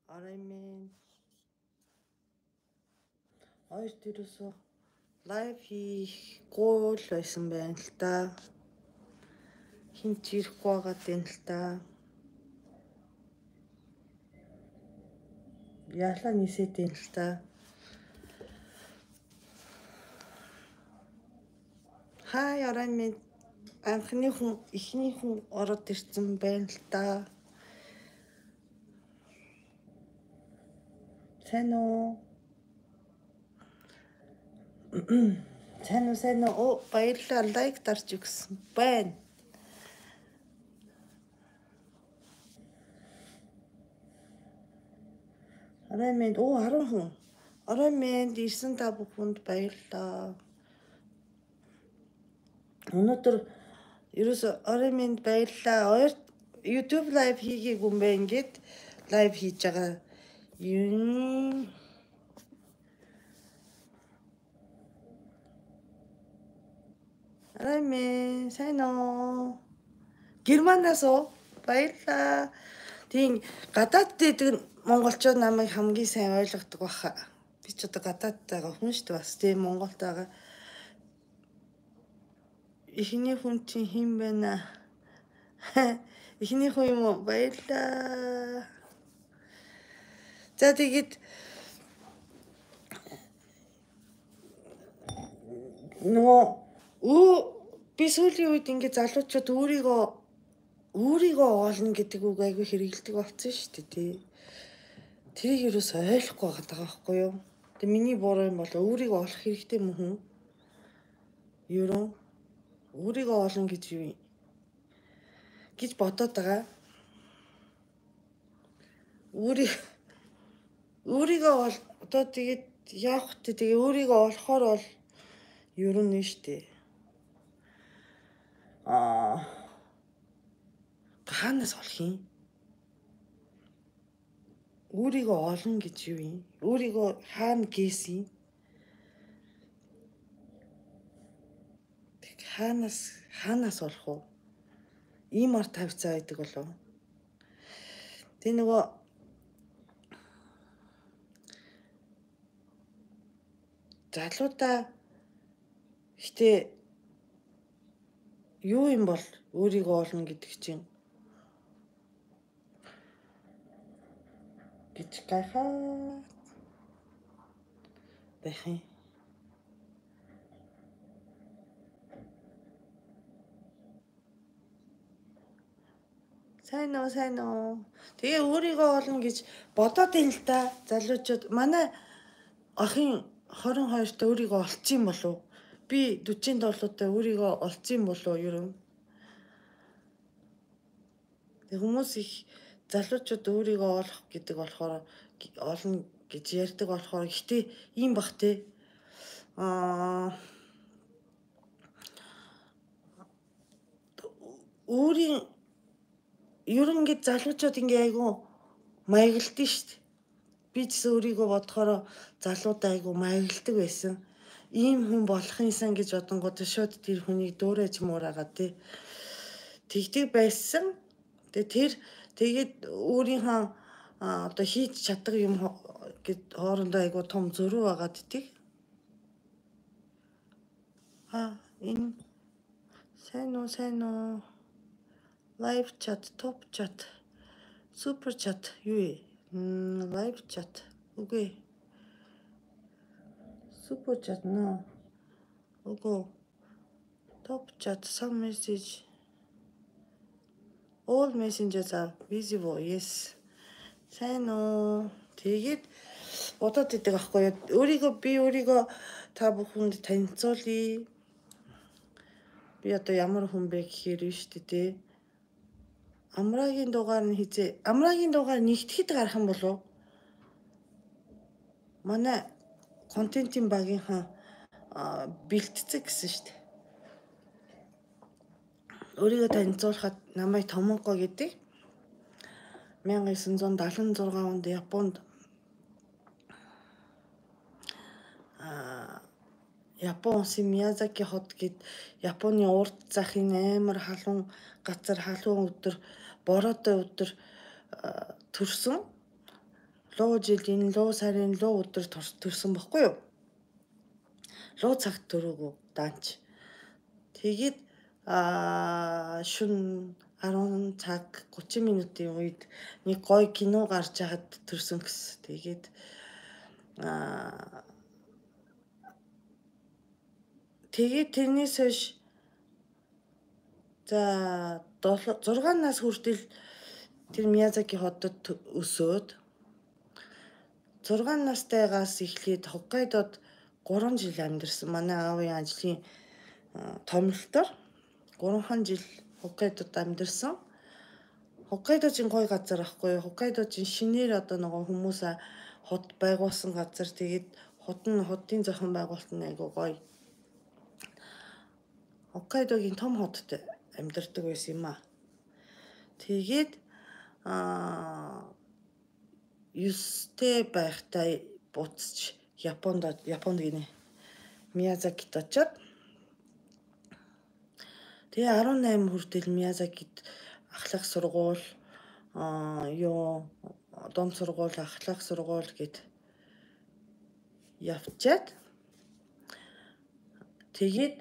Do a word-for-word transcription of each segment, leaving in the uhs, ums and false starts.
Араймын хоёр төрөөсөө лайв хийх гол байсан байна л та. Хинч ирэхгүй байгаад байна л та. Яалаа нисээд байна л та. Хай араймын анхны хүн ихний хүн ороод ирсэн байна л та. Сайн уу? Сайн уу, сайн уу? Оо, баярлалаа. Лайк дарж өгсөн байна. Араймын оо арван хүн. Араймын ирсэн та бүхэнд баярлалаа. Өнөөдөр ерөөсө араймын баярлалаа. Хоёр YouTube live хийгээг юм бэ ингээд live хийж байгаа. Юм Араймын сайн уу? Германаас уу? Баярлалаа. Тийм гадаад дэдэг монголчууд намайг хамгийн сайн ойлгодог баха. Би ч одоо гадаад байгаа хүн шүү дээ бас тийм Монголд байгаа. Ихний хүн чинь хэн байна? Ихний хүн юм уу? Баярлалаа. За тэгээд нөгөө өө би сүүлийн үед ингэ залуучууд өөрийгөө өөрийгөө олно гэдэг үг айгүй хэрэгэлдэг болсон шүү дээ тий. Тэрийг юус ойлгохгүй байгаа байхгүй юу? Тэгээ миний буруу юм бол өөрийгөө олох хэрэгтэй мөн хүн? Юу өөрийгөө олно гэж юу гэж бодоод байгаа. Өөрийг өөрийгөө одоо тэгээд яах вэ? Тэгээ өөрийгөө олохоор бол юу нэ штэ. Аа хаанаас олох юм? Өөрийгөө олно гэж юу юм? Өөрийгөө хаана гээсэн? Тэг хаанаас хаанаас олох вэ? Ийм ар тавьцаа байдаг болов. Тэ нөгөө залуудаа гэтээ юу юм бол өөрийгөө олно гэдэг чинь гэж гайхаа байх юм. Сайн уу, сайн уу. Тэгээ өөрийгөө олно гэж бодоод байна л да. Залуучууд манай ахын хорин хоёрт өөрийгөө олцсон болов. Би дүүжин долоотой өөрийгөө олцсон болов юу? Тэг хүмүүс их залуучууд өөрийгөө олох гэдэг болохоор олно гэж ярьдаг болохоор гэхдээ ийм бах те. Аа өөрийн ер нь ингэ залуучууд ингэ айгу маягалдсан шүү дээ. Би ч өөрийгөө бодохоор залуудаа айгу маягалдаг байсан. Ийм хүн болох юмсан гэж бодонгууд шууд тэр хүнийг дөөрэж муураагаа тий. Тэгдэг байсан. Тэгээ тэр тэгээд өөрийнхөө одоо хийж чаддаг юм гэд хоорондоо айгу том зөрүү байгаад дий. А энэ сайн уу, сайн уу? Live chat, top chat, super chat юу вэ? Live chat. Үгүй. Super chat нөө. Үгүй. Top chat, some message. All messengers are visible. Yes. Сайн уу? Тэгээд бодоод идэг аахгүй юу? Өөрийгөө би өөрийгөө та бүхэнд танилцуулъя. Би одоо ямар хүн бэ гэхээр биш дээ. Амрагийн дугаар нь хизээ. Амрагийн дугаар нэгтгэхэд гарах юм болов? Манай контентын багийнхаа бэлтцэг гэсэн шүү дээ. Өөрийгөө танилцуулахад намайг Томонко гэдэг. мянга девятьсот семьдесят шесть онд Японд аа Япон улсын Миязаки хот гэд Японы урд захын амар халуун газар халуун өдөр бороотой өдөр төрсөн луу жилийн луу сарын луу өдөр төрсөн баггүй юу? Луу цагт төрөөгөө даанч. Тэгээд аа шүн арван цаг гучин минутын үед нэг гоё кино гарч яхад төрсөн гэсэн. Тэгээд аа тэгээд тэрнээс хойш за зургаан нас хүртэл тэр Миязаки хотод өсөөд зургаан настайгаас эхлээд Хоккайдод гурван жил амьдарсан. Манай аавын ажлын томилтоор гурван жил Хоккайдод амьдарсан. Хоккайдо чинь гоё газар ахгүй юу? Хоккайдо чинь шинээр одоо нөгөө хүмүүс хот байгуулсан газар. Тэгээд хот нь хотын зохион байгуулалт нь айгуу гоё. Хоккайдогийн том хотод амьдардаг байсан юм аа. Тэгээд аа юустэй байхтай буцаж Японд Японд гинэ. Миязакид очоод тэгээ арван найман хүртэл Миязакид ахлах сургууль аа юу дон сургууль ахлах сургууль гэд явчаад тэгээд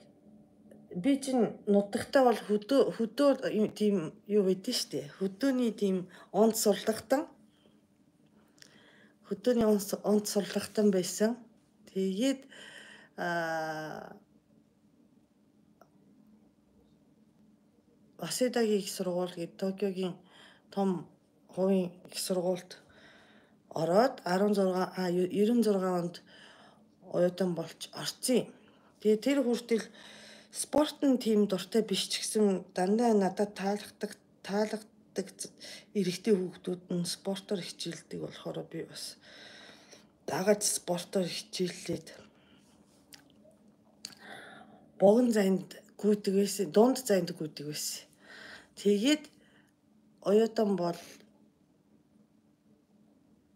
би чинь нутагтаа бол хөдөө хөдөө тийм юу байдэн штэ. Хөдөөний тийм онд сурлагтан хөдөөний онд сурлагтан байсан. Тэгээд аа Васедагийн их сургууль гээд Токиогийн том хувийн их сургуульд ороод арван зургаан а девяносто шесть онд оюутан болж орцсон. Тэгээ тэр хүртэл спортын тим дуртай биш ч гэсэн дандаа надад таалагддаг таалагддаг эрэгтэй хүүхдүүд нь спортоор хичээлдэг болохоор би бас дагаж спортоор хичээллээд богино зайд гүйдэг байсан, дунд зайд гүйдэг байсан. Тэгээд оюутан бол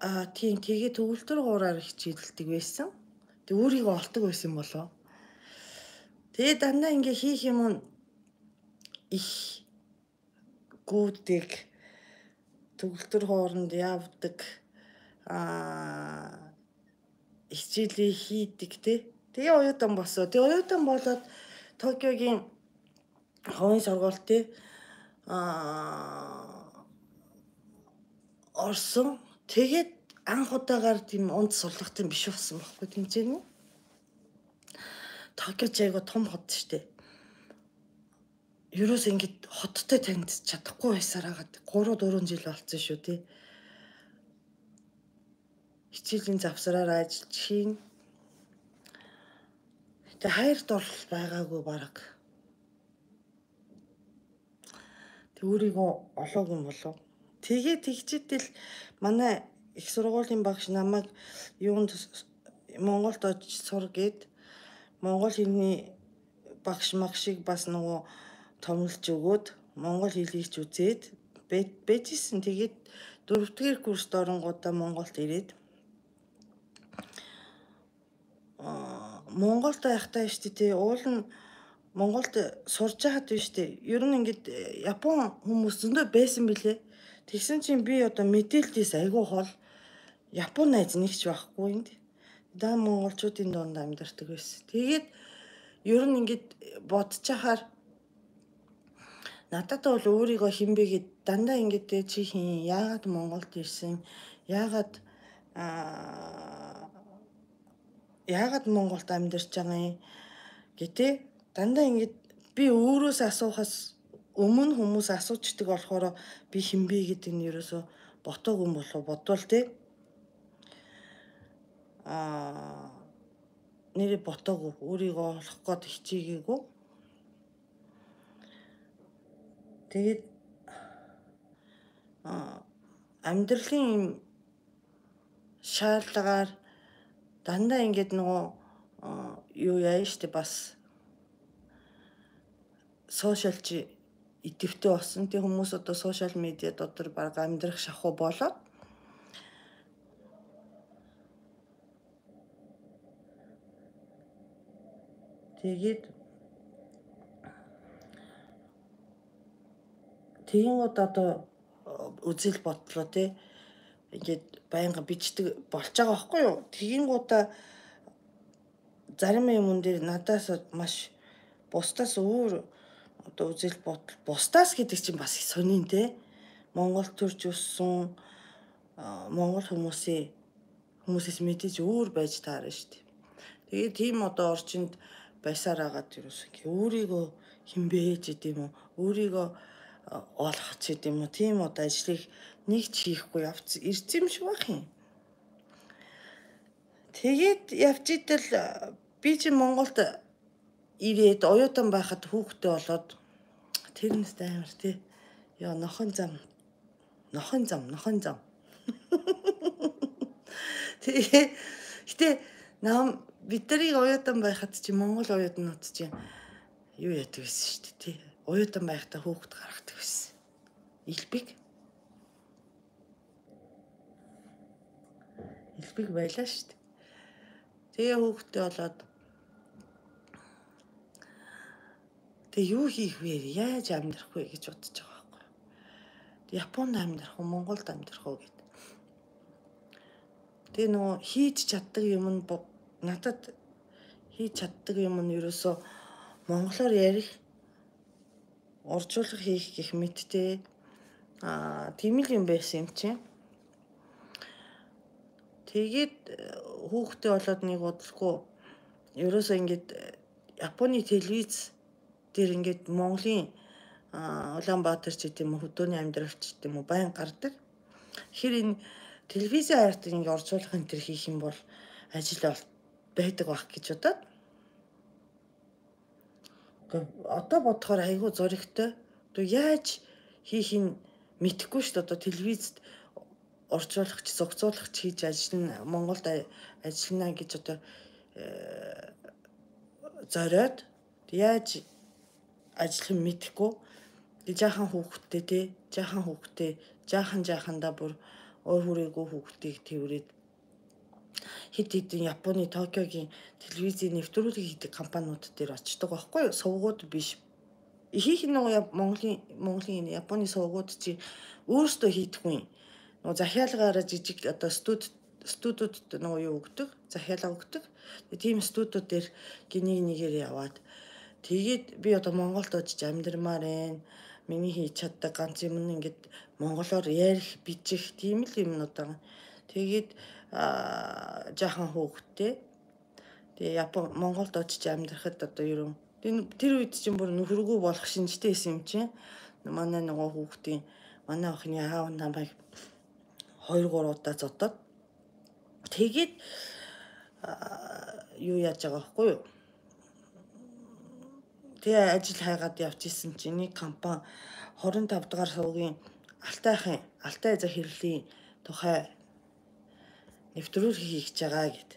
аа тийм тэгээд төгөлдөр хуураар хичээлдэг байсан. Тэг өөрийгөө олдог байсан болоо. Тэгээд дандаа ингээ хийх юм их гүйдэг, төгөлдөр хооронд явдаг, аа хичээлээ хийдэг те. Тэгээ оюутан болсоо. Тэгээ оюутан болоод Токиогийн хувийн сургууль те аа орсон. Тэгээд анх удаагаар тийм онд сурлагтын биш болсон байхгүй тэмцээнэ. Токио ч айгу том хот штэ. Ерөөс ингэж хоттой танилцж чадахгүй байсаар хагаад гурав дөрвөн жил болцсон шүү тий. Хичээлийн завсраар ажиллаж хийн. Тэг хайрт орол байгаагүй баг. Тэг өөрийгөө олоогүй юм болов. Тэгээ тэгчээтэл манай их сургуулийн багш намайг юунд Монголд очиж сур гээд монгол хэлний багш магшиг бас нөгөө томилж өгөөд монгол хэлийг ч үзээд бэжсэн. Тэгээд дөрөвдүгээр курст оронгуудаа Монголд ирээд аа Монголд байхдаа штэ тий уул нь Монголд сурж байхад биш штэ. Ер нь ингээд Япон хүмүүс зөндөө байсан билээ. Тэгсэн чинь би одоо мэдээлэлээс айгүй хол Япон найз нэгч байхгүй энд. Даа монголчуудын дунд амьдардаг байсан. Тэгээд ер нь ингээд бодож хахаар надад бол өөрийгөө хинбэ гэд дандаа ингээд чи хин яагаад Монголд ирсэн? Яагаад аа яагаад Монголд амьдарч байгаа юм гэтээ дандаа ингээд би өөрөөс асуухаас өмнө хүмүүс асуучдаг болохоор би хинбэ гэдэг нь ерөөсө ботоогүй юм болов бодвол тий аа нэрэ ботоогүй өөрийгөө олох гээд хичээгээгүй. Тэгээд аа амьдралын шаардлагаар дандаа ингээд нөгөө юу яа штэ бас сошиалч идэвхтэй болсон. Тэг хүмүүс одоо сошиал медиа дотор баг амьдрах шахуу болоод Тэгээд тэгингууд одоо үзэл бодлоо тий ингээд байнга бичдэг болж байгаа байхгүй юу? Тэгингуудаа зарим юмн дээр надаас маш бусдаас өөр одоо үзэл бодол бусдаас гэдэг чинь бас сонин тий Монгол төрж өссөн Монгол хүмүүсийн хүмүүсээс мэдээж өөр байж таарна шүү дээ. Тэгээд тийм одоо орчинд байсаар агаад юус ингээ өөрийгөө хинбэж гэдэг юм уу? Өөрийгөө олох ч гэдэг юм уу? Тийм одоо ажлыг нэг ч хийхгүй явц ирсэн юм шиг байх юм. Тэгээд явж идэл би чи Монголд ирээд оюутан байхад хүүхдтэй болоод тэрнээс амар тий. Яа нохон зам. Нохон зам, нохон зам. Тэгээ гэтээ нам бидний оюутан байхад чи Монгол оюутнууд чи юу яадаг байсан шүү дээ тий. Оюутан байхдаа хүүхд гаргадаг байсан. Илбэг. Илбэг байлаа шүү дээ. Тэгээ хүүхдтэй болоод тэгээ юу хийх вэ? Яаж амьдрах вэ гэж бодож байгаа байхгүй. Японд амьдрах уу, Монголд амьдрах уу гэд. Тэгээ нөгөө хийж чаддаг юм нь надад хийж чаддаг юм нь ерөөсөө монголоор ярих, орчуулга хийх гэх мэттэй аа тийм л юм байсан юм чинь. Тэгээд хүүхдтэй болоод нэг бодлохгүй ерөөсөө ингээд Японы телевиз дээр ингээд Монголын Улаанбаатар ч гэдэм үү хөдөөний амьдралч гэдэм үү байн гардаг. Тэгэхээр энэ телевизийн хайрт ингээд орчуулах энэ төр хийх юм бол ажил байдаг байх гэж бодоод. Одоо бодохоор айгүй зоригтой. Одоо яаж хийхин мэдэхгүй шүү дээ. Одоо телевизэд орчуулагч, зохицуулагч хийж ажиллана, Монголд ажиллана гэж одоо зориод яаж ажиллах юм мэдэхгүй. Тэг жаахан хүүхдтэй тий, жаахан хүүхдтэй, жаахан жаахандаа бүр ой хүрээгүй хүүхдийг тэрвэрэд хэд хэдэн Японы Токиогийн телевизийн нэвтрүүлэг хийдэг компаниуд дээр очдог байхгүй юу? Сувгууд биш. Ихийнх нь нөгөө Монголын Монголын Японы сувгууд чи өөрсдөө хийдэггүй. Нөгөө захиалгаараа жижиг одоо студ студиуд нөгөө юу өгдөг, захиалга өгдөг. Тийм студиуд дээр гинийг нэгээр яваад тэгээд би одоо Монголд очиж амьдрмаар байна. Миний хийж чаддаг ганц юм нь ингээд монголоор ярих, бичих тийм л юмнууд байгаа. Тэгээд жаахан хүүхдтэй. Тэгээ Япон Монголд очиж амьдрахад одоо ерөн тэр үед чинь бүр нөхөргүй болох шинжтэй байсан юм чинь. Манай нөгөө хүүхдийн манай охины аав намайг хоёр гурав удаа зодоод тэгээд юу яаж байгаа байхгүй юу? Тэгээ ажил хайгаад явж исэн чинь нэг компани хорин тав дахь сувгийн Алтайхын Алтай эзэ хэрлийн тухай нэвтрүүлэг хийж байгаа гэд.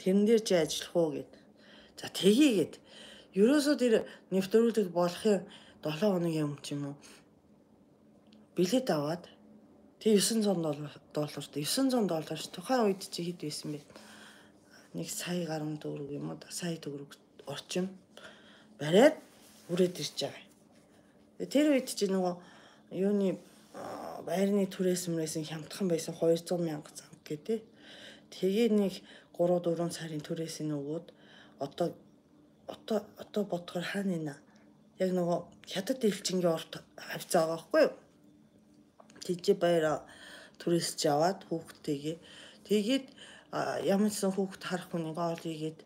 Тэрэн дээр чи ажиллах уу гэд. За тгийгээд ерөөсөө тэр нэвтрүүлэг болохын долоо хоногийн өмнө ч юм уу билет аваад тэг девятьсот долларт девятьсот доллар тухайн үед чи хэд байсан бэ? Нэг сая гаруй төгрөг юм уу? Сая төгрөг орчим бариад үрээд ирж байгаа. Тэр үед чи нөгөө юуны байрны түрээс мөрөөсөн хямдхан байсан двести мянга занг гэдэг. Тэгээ нэг три четыре сарын түрээс нь өгөөд одоо одоо одоо бодохоор хаана нэ? Яг нөгөө хятад элчингийн орд хавцаа байгаа байхгүй юу? Тэжээ баяра түрээс ч аваад хүүхдтэйгээ тэгээд ямар ч хүүхд харах хүнийг оол ийгээд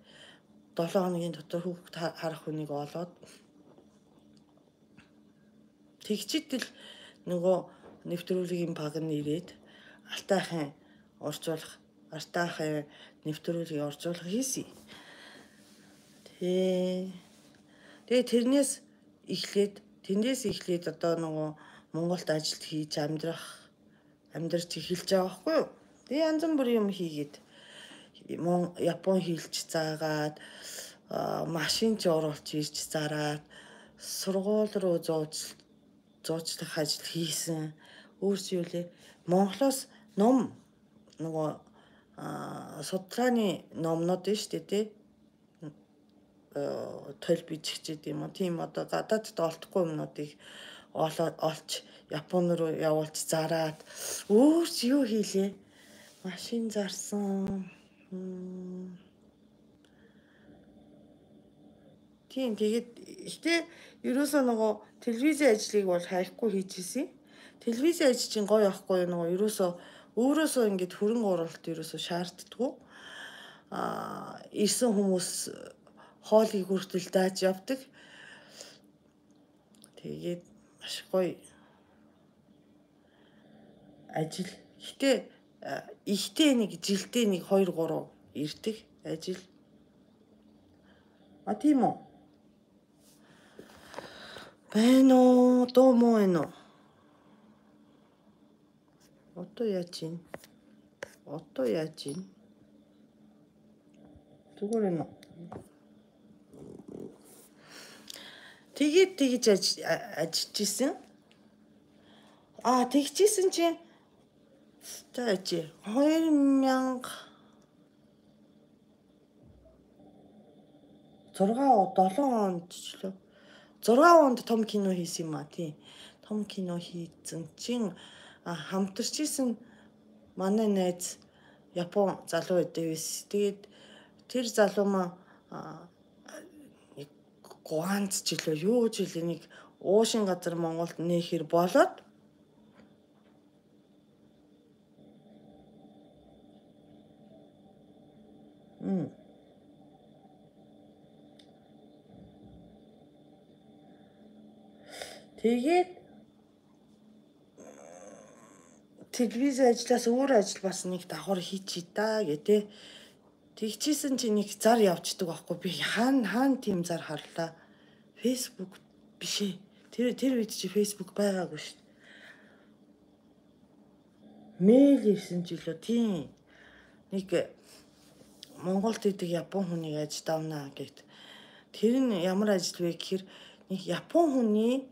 долоо хоногийн дотор хүүхд харах хүнийг олоод тэгчитэл нөгөө нэвтрүүлгийн баг нь ирээд Алтайхын орчуулах Алтайхын нэвтрүүлгийн орчуулга хийсэн. Тэ тэгээ тэрнээс эхлээд тэндээс эхлээд одоо нөгөө Монголд ажилт хийж амьдрах амьдрч эхэлж байгаа байхгүй юу? Тэгээ янз бүрийн юм хийгээд Япон хэлж заагаад машин ч оруулж ирж зараад сургууль руу зууж зуучлах ажил хийсэн. Өөрсдөө лээ Монголоос ном нөгөө судалгааны номнууд нь шүү дээ тий. тойл бичигчээд юм уу тийм одоо гадаадд олдохгүй юмнуудыг олж Япон руу явуулж зараад өөрч юу хийлээ? Машин зарсан. Тийм тэгээд ихтэй ерөөсөө нөгөө телевизийн ажлыг бол хайхгүй хийжсэн. Телевизийн ажил чинь гоё явахгүй нөгөө ерөөсөө өөрөөсөө ингэж хөрөнгө оруулалт ерөөсөө шаарддаггүй. Аа ирсэн хүмүүс хоолыг хүртэл дааж явдаг. Тэгээд маш гоё ажил. Гэтэ ихтэй нэг жилдээ нэг хоёр гурав ирдэг ажил. А тийм үү? Байна уу? Дуу муу байна уу? Одоо яаж ийн? Одоо яаж ийн? Зүгээр байна уу? Тэгээд тэгж ажиллаж исэн. Аа тэгчихсэн чинь тааж хоёр мянга зургаа долоон онд ч лөө зургаан онд том кино хийсэн юм а тий. Том кино хийсэн чинь хамтарч исэн манай найз Япон залуу байдаг байсан. Тэгээд тэр залуу маа Гуанз ч лөө юу ч хэлээ нэг уушин газар Монголд нээхэр болоод Мм. Тэгээд телевиз ажлаас өөр ажил бас нэг давхар хийчий та гэдэг. Тэгчихсэн чинь нэг зар явцдаг байхгүй би хаана хаана тийм зар харлаа. Facebook биш ээ. Тэр тэр үед чи Facebook байгаагүй шүү дээ. Мэйл ирсэн ч илүү тийм нэг Монголд идэг Япон хүнийг ажид авнаа гэд. Тэр нь ямар ажил вэ гэхээр нэг Япон хүний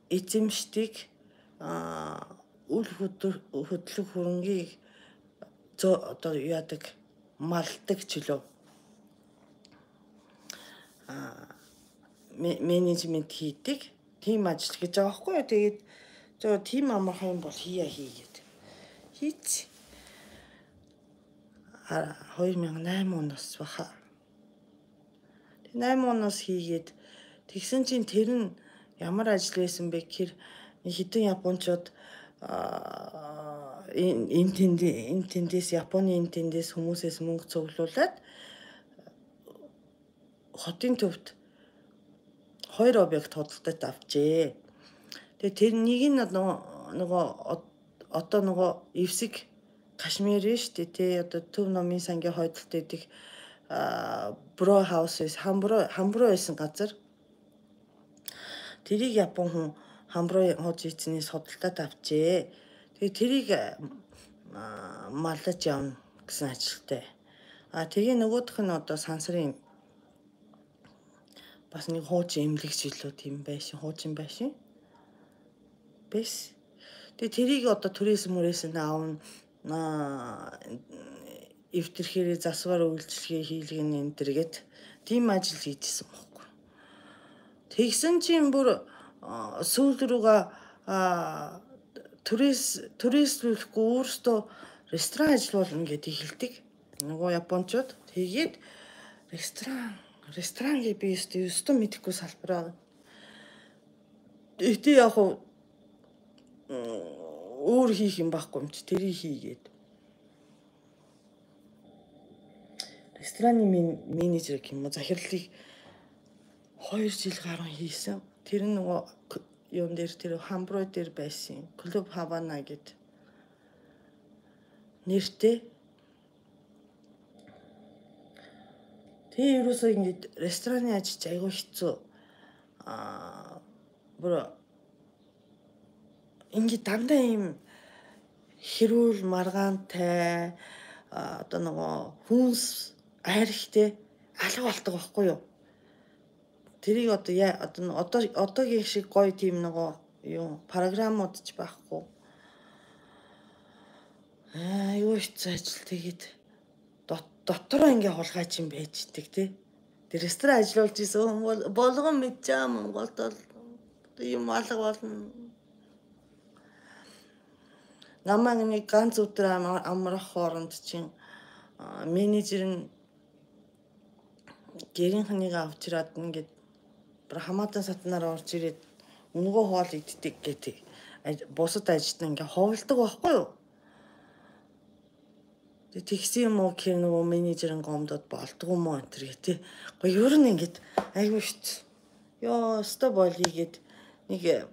эзэмшдэг аа үл хөдлөх хөрөнгийг одоо яадаг малдаг ч лөө аа менежмент хийдэг тийм ажил гэж байгаа байхгүй юу. Тэгээд зөө тийм амархан бол хийя хийгээд хийц хоёр мянга найман оноос баха. найман оноос хийгээд тэгсэн чинь тэр нь ямар ажил байсан бэ гэхээр хэдэн японочууд энэ тэнд энэ тэндээс Японы энэ тэндээс хүмүүсээс мөнгө цуглуулад хотын төвд хоёр объект худалдаад авчээ. Тэгээ тэр нэг нь нөгөө одоо нөгөө эвсэг Кашмир шүү дээ тий одоо Төв номын сангийн хойдолд идэх бро хаусээс хамбро хамбро байсан газар. Тэрийг Япон хүн хамбро хож ийцнээс худалдаад авчээ. Тэгээ тэрийг маллаж явна гэсэн ажилтай. А тэгээ нөгөөх нь одоо сансрын бас нэг хуучин эмнэлэгч илүү тийм байшин хуучин байшин. Бэс. Тэгээ тэрийг одоо түрээсэн мөрөөсөн аавна эвтэрхээрээ засвар үйлчлэгээ хийлгэн энэ төргээд тийм ажил хийжсэн байхгүй. Тэгсэн чинь бүр сүүл рүүгээ турист туристлуулахгүй өөртөө ресторан ажиллуулна гэдээ хэлдэг. Нөгөө японочууд тэгээд ресторан ресторан гээ би өстө өстө мэдэхгүй салбараа. Этэ яг өөр хийх юм байхгүй юм чи тэрийг хийгээд. Рестораны менежер гэх юм уу захирлыг хоёр жил гаруй хийсэн. Тэр нь нөгөө юун дээр тэр хамброо дээр байсан. Клуб Хавана гэд нэртэй. Тэгээ ерөөсөө ингэж рестораны ажиж айгүй хэцүү. Аа бүр ингэ дандаа юм хэрүүл маргаантай одоо нөгөө хүнс айрхтэй алга болдог байхгүй юу? Тэрийг одоо яа одоо одоо одоогийн шиг гоё тийм нөгөө юу програмууд ч байхгүй. Аа юу ч ажил тэгээд дотроо ингээ хулгайч юм байж идэг тий. Тэр ресторан ажиллуулж исэн хүн бол болгон мэдчихэе Монголд бол ийм алга болно. Намайг нэг ганц өдөр амрах хооронд чинь менежер нь гэрийнхнийг авч ирээд ингээд хамаатан сатнаар орж ирээд өнгөө хоол иддэг гэдэг. Бусад ажилтнаа ингээд ховлдог байхгүй юу? Тэгсэн юм уу гэхээр нөгөө менежерын гомдод болдгоо мó энэ төр тий. Гэхдээ ер нь ингээд айгүй шít. Ёо, өстө болигээд нэг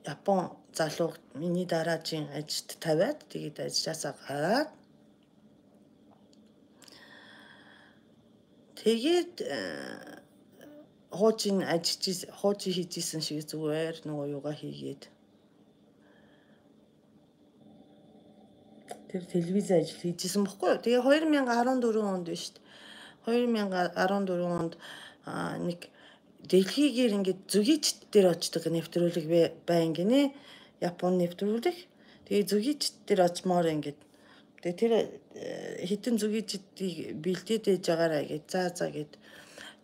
Япон залуу миний дараажийн ажилд тавиад тэгээд ажилласаа гараад тэгээд хуучин ажиллаж хуучин хийжсэн шиг зүгээр нөгөө юугаа хийгээд тэр телевиз ажил хийжсэн баггүй юу. Тэгээ две тысячи арван дөрвөн онд биш үү? две тысячи арван дөрвөн онд нэг дэлхийгээр ингээд зүгийчт дээр очдог нэвтрүүлэг байн гинэ. Япон нэвтрүүлэг. Тэгээ зүгийчт дээр очмоор ингээд тэгээ тэр хитэн зүгийчдийг бэлдээд ээж байгаараа гэж заа заа гэд.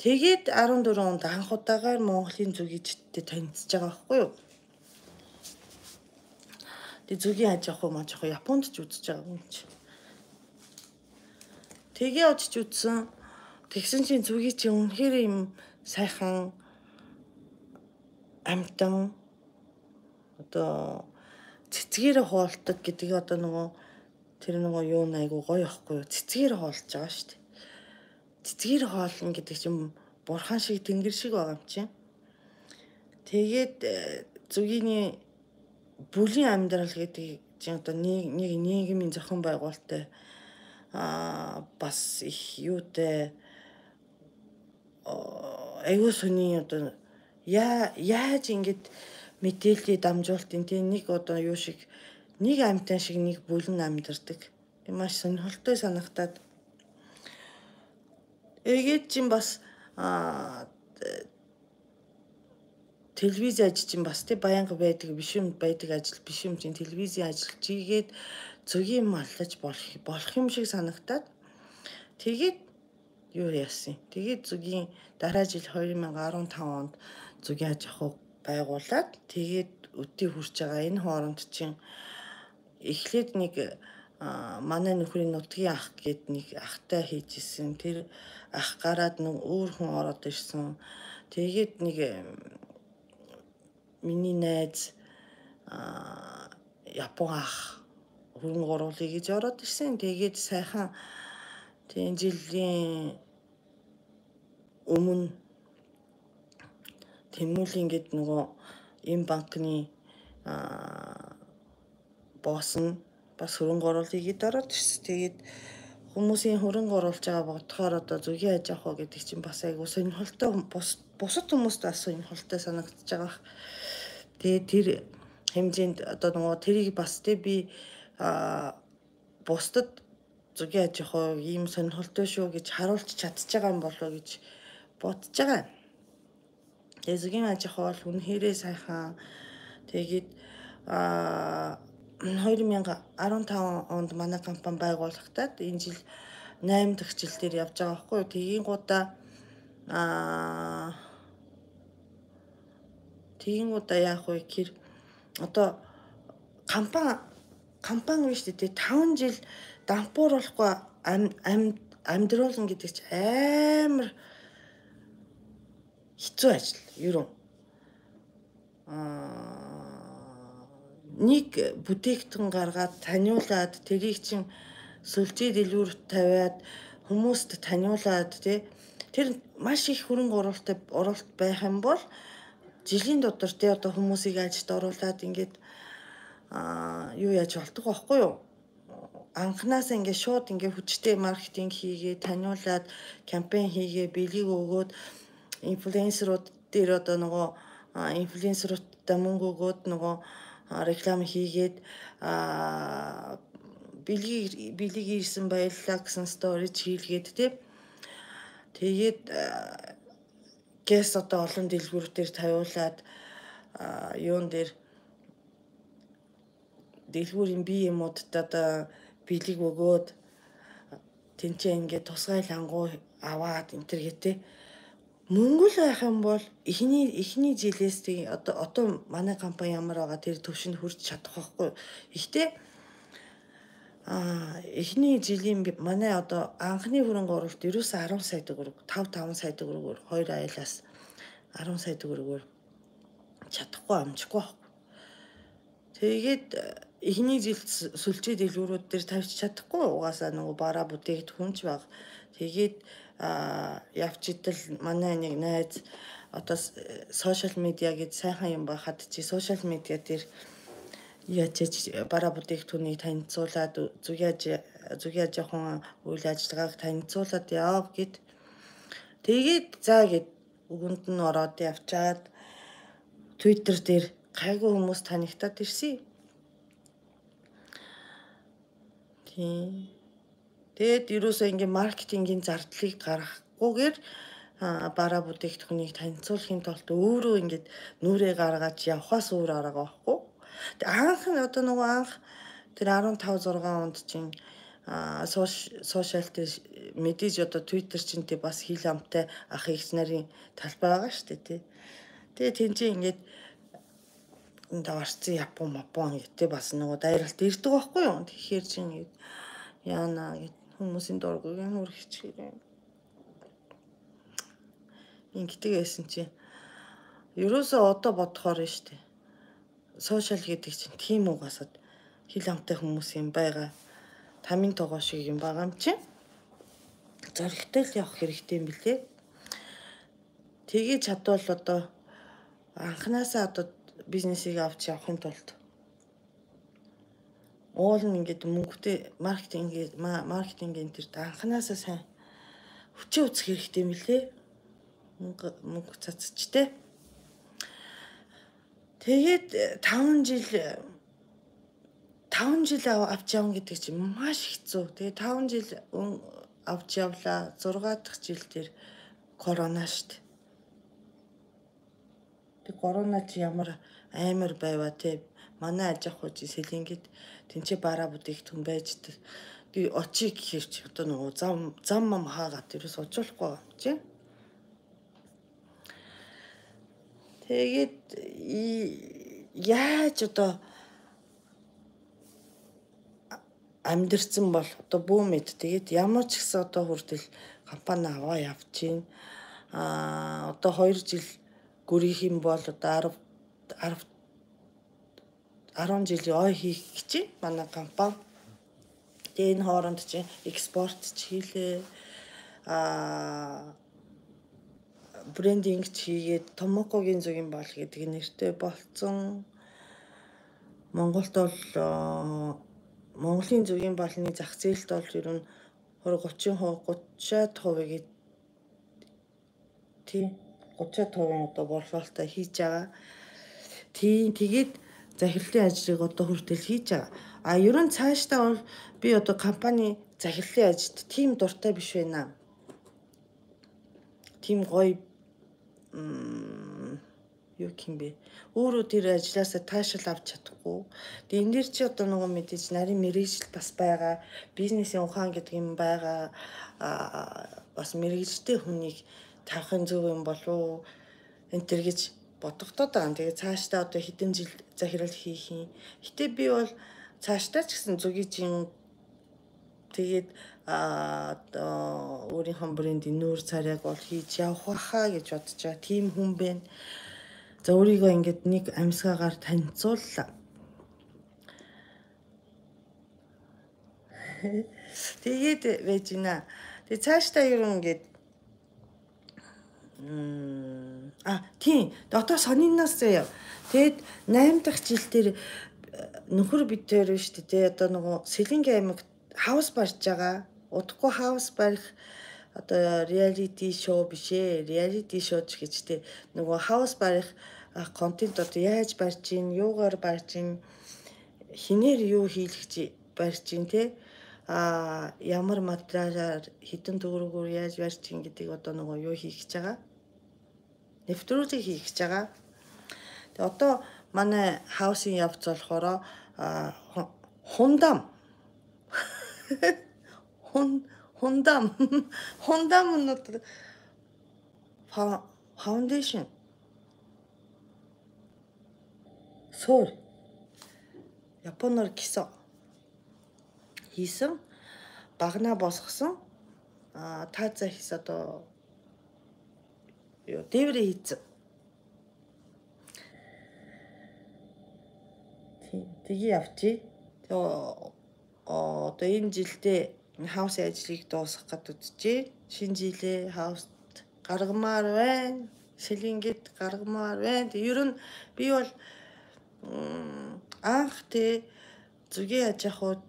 Тэгээд арван дөрвөн онд анх удаагаар Монголын зүгийчттэй танилцж байгаа байхгүй юу? Тэгээ зүгийн аж ахуй маж ахуй Японд ч үзэж байгаа юм чи. Тэгээ очиж үзсэн. Тэгсэн чинь зүгий чи үнэхээр юм сайхан амтан одоо цэцгээр хоолтод гэдэг одоо нөгөө тэр нөгөө юу айгу гоё ахгүй юу? Цэцгээр хоолж байгаа шүү дээ. Цэцгээр хоолно гэдэг чинь бурхан шиг тэнгэр шиг байгаа юм чинь. Тэгээд зүгийний бүлийн амьдрал гэдэг чинь одоо нэг нэг нийгмийн зохион байгуулалттай аа бас их юутай аюу сүний одоо яа яаж ингэж мэдээлэлийг дамжуултын тийм нэг одоо юу шиг нэг амьтан шиг нэг бүлэн амьдардаг. Маш сонирхолтой санагтаад эгээд чинь бас аа телевиз ажил чинь бас тий баянга байдаг биш юм байдаг ажил биш юм чинь телевизийн ажил чигээд зүгийн маллаж болох болох юм шиг санагтаад тэгээд юу яасан. Тэгээд зүгийн дараа жил две тысячи арван тав онд зүгийн аж ахуй байгуулад тэгээд өдий хүрч байгаа энэ хооронд чинь эхлээд нэг манай нөхрийн нутгийн ах гээд нэг ахтай хийжсэн. Тэр ах гараад нэг өөр хүн ороод ирсэн. Тэгээд нэг миний найз Япон ах хөрөнгө оруулъя гэж ороод ирсэн. Тэгээд сайхан тийм жилийн өмнө Тэмүүлэн гээд нөгөө энэ банкны босс нь бас хөрөнгө оруулъя гэж ороод ирсэн. Тэгээд хүмүүсийн хөрөнгө оруулж байгаа бодохоор одоо зүгийн аж ахуй гэдэг чинь бас айгуу сонирхолтой бусад хүмүүст бас сонирхолтой санагдаж байгаа. Тэгээд тэр хэмжээнд одоо нөгөө тэрийг бас тий би бусдад зүгийн аж ахуй ийм сонирхолтой шүү гэж харуулж чадчих байгаа юм болоо гэж бодож байгаа. Тэгээ зүгийн аж ахуй бол үнэхэрээ сайхан. Тэгээд а две тысячи арван тав онд манай компани байгуулагдаад энэ жил восемь дахь жил дээр явж байгаа байхгүй юу. Тэгийн гудаа а Тэгийн гудаа яах вэ гэхээр одоо компани компани биш үү таван жил дампууруулахгүй амьдруулна гэдэг чинь амар хэцүү ажил ерөн. Аа нэг бүтээгдэхүүн гаргаад таниулаад тэрийг чинь сүлжээ дэлгүүрт тавиад хүмүүст таниулаад тий тэр маш их хөрөнгө оруулалттай оруулалт байх юм бол жилийн дотор тий одоо хүмүүсийг ажилд оруулаад ингээд аа юу яаж болдог байхгүй юу? Анханасаа ингээд шууд ингээд хүчтэй маркетинг хийгээ таниулаад кампайн хийгээ бэлгийг өгөөд инфлюенсерууд дээр одоо нөгөө инфлюенсеруудтай мөнгө өгөөд нөгөө реклам хийгээд а бэлгийг бэлгийг ирсэн баярлалаа гэсэн сторич хийлгээд тий тэгээд гэс одоо олон дэлгүүртээр тавиулаад юун дээр дэлгүүрийн бие юмудад одоо бэлэг өгөөд тэнцээ ингээд тусгай лангуу аваад энэ төр гэдэг. Монгол байх юм бол эхний эхний жилээс тий одоо одоо манай компани ямар байгаа тэр төвшөнд хүрч чадах байхгүй. Ихтэй а эхний жилийн манай одоо анхны хөрөнгө оруулалт ерөөсөө арван сая төгрөг, таван таван сая төгрөгөөр хоёр айлаас арван сая төгрөгөөр чадахгүй амжихгүй байхгүй. Тэгээд эхний жил сүлжээ дэлгүүрүүд дээр тавьж чадахгүй угаасаа нөгөө бараа бүтээгдэхүүнч баг. Тэгээд явж идэл манай нэг найз одоо сошиал медиа гэж сайхан юм байхад чи сошиал медиа дээр яаж бараа бүтээгдэхүүнийг танилцуулаад зүгяаж зүгяаж жоохон үйл ажиллагааг танилцуулаад яав гэд. Тэгээд за гэд өгөнд нь ороод явчаад Twitter дээр гайгүй хүмүүс танигтаад ирсэн. Тийм. Тэгээд ерөөсөө ингээ маркетингийн зардлыг гаргахгүйгээр бараа бүтээгдэхүүнийг танилцуулахын тулд өөрөө ингээд нүрээ гаргаж явхаас өөр арга байхгүй. Тэг анх нь одоо нөгөө анх тэр арван тав зургаан онд чинь сошиал дээр мэдээж одоо Twitter чинь тий бас хил амтай ах эгч нарын талбай байгаа шүү дээ тий. Тэгээ тэнцээ ингээд энэ даварцсан Япон Мапон гэдэг бас нөгөө дайралт ирдэг байхгүй юу. Тэгэхээр чинь ингээд яана гэд хүмүүсийн дургүйг нүр хичээрээ. Ингэдэг байсан чи ерөөсөө одоо бодохоор нь штэ. Сошиал гэдэг чинь тийм угаасаад хил амтай хүмүүс юм байгаа. Тамийн тогоо шиг юм байгаа юм чи. Зоригтой л явах хэрэгтэй юм билээ. Тэгээ чадвал одоо анханасаа одоо бизнесийг авч явахын тулд уул нь ингээд мөнгөтэй маркетинг маркетингийн тэр анханасаа сайн хүчээ үзэх хэрэгтэй юм билээ. Мөнгө мөнгө цацчтэй. Тэгээд таван жил таван жил авч явна гэдэг чинь маш хэцүү. Тэгээд таван жил авч явлаа. зургаа дахь жил дээр корона штт. Тэг корона чи ямар амар байваа те. Манай аж ахуй сэлингэд тэнцээ бараа бүтээгдэхүүн байж би очиг гэхэрч одоо нөгөө зам зам мам хаагаад ерөөс очихгүй юм чи. Тэгээд яаж одоо амьдрцсан бол одоо бүү мэд тэгээд ямар ч гэсэн одоо хүртэл компани аваа явж чинь а одоо хоёр жил гүрийнх юм бол одоо арав арван жилийн ой хийх гэж манай компани. Тэгээ энэ хооронд чинь экспорт ч хийлээ. А брендинг хийгээд Томокогийн зүгийн бол гэдэг нэртэй болцсон. Монголд бол Монголын зүгийн балны зах зээлд бол ер нь гучин гуцаад хувийг тий гуцаад хувийн одоо борлуулалтаа хийж байгаа. Тийм тэгээд захирлын ажлыг одоо хүртэл хийж байгаа. А ер нь цаашдаа бол би одоо компани захирлын ажилд тийм дуртай биш байна. Тийм гоё юу юм бэ? Өөрөө тэр ажилласаа таашаал авч чадахгүй. Тэгээ энэ дэр чи одоо нөгөө мэдээж нарийн мэргэжил бас байгаа. Бизнесийн ухаан гэдэг юм байгаа. А бас мэргэжтэй хүнийг тавихын зөв юм болов уу? Энтэр гэж бодогдоод байгаа. Тэгээ цаашдаа одоо хэдэн жил захирал хийх юм. Гэтэ би бол цаашдаа ч гэсэн зүгийн тэгээд а одоо өөрийнхөө брендийн нүүр царайг бол хийж явах хаа гэж бодож байгаа. Тим хүн бэ. За өөрийгөө ингээд нэг амьсгаагаар танилцууллаа. Тэгээд байж гинэ. Тэгээ цаашдаа ер нь ингээд а тийм дотоо сониннаас заяа. Тэгэд найман дахь жил дээр нөхөр бид тээр шүү дээ. Одоо нөгөө Сэлэнгийн аймагт хаус барьж байгаа. Удахгүй хаус барих одоо реалити шоу биш ээ. Реалити шоу ч гэжтэй нөгөө хаус барих контент одоо яаж барьж ийн, юугаар барьж ийн, хинээр юу хийлгэж барьж ийн те. А ямар материалаар хэдэн төгрөгөөр яаж барьж ийн гэдгийг одоо нөгөө юу хийх гэж байгаа. Нэвтрүүлэг хийх гэж байгаа. Тэгээ одоо манай хаусын явц болохоор хундам Хун Хундам. Хундам нь одоо foundation. Суур. Японоор кисо хийсэн багнаа босгосон а тааза хийс одоо юу дээврээ хийсэн. Тэгээ явчих. Тэгээ одоо энэ жилдээ хаусын ажлыг дуусгах гэж үзчихээ. Шинэ жилээ хауст гаргамаар байна. Сэлингэд гаргамаар байна. Тэг ер нь би бол анх тэ зүгийн аж ахуйд